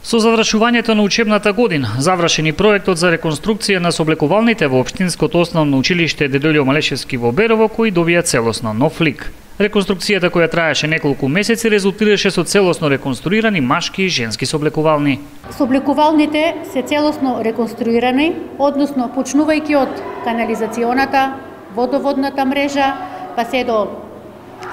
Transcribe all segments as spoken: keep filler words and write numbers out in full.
Со завршувањето на учебната година, завршени проектот за реконструкција на соблекувалните во Општинското основно училиште Дедољо Малешевски во Берово, кој добија целосно нов лик. Реконструкцијата, која траеше неколку месеци, резултираше со целосно реконструирани машки и женски соблекувални. Соблекувалните се целосно реконструирани, односно почнувајќи од канализационата, водоводната мрежа, па се до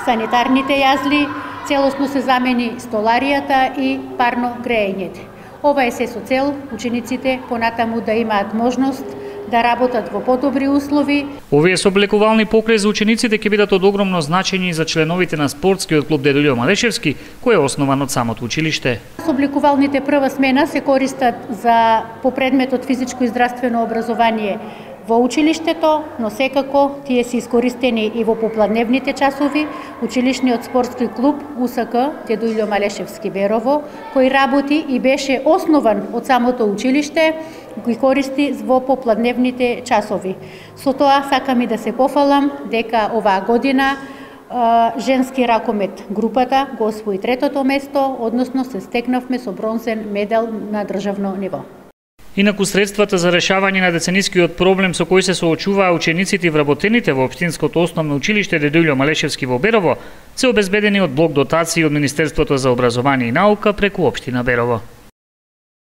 санитарните јазли, целосно се замени столаријата и парно грејењето. Ова е се со цел учениците понатаму да имаат можност да работат во подобри услови. Овие соблекувални покрај за учениците ќе бидат од огромно значење за членовите на спортскиот клуб Дедољо Малешевски, кој е основан од самото училиште. Соблекувалните прва смена се користат за по предметот физичко и здравствено образование во училиштето, но секако тие се искористени и во попладневните часови. Училишниот спортски клуб У С К Дедољо Малешевски Берово, кој работи и беше основан од самото училиште, ги користи во попладневните часови. Со тоа сакам и да се пофалам дека оваа година женски ракомет групата го освои третото место, односно се стекнавме со бронзен медал на државно ниво. Инаку средствата за решавање на деценискиот проблем со кој се соочуваа учениците и вработените во Општинското основно училиште Дедољо Малешевски во Берово се обезбедени од блок дотации од Министерството за образование и наука преку Општина Берово.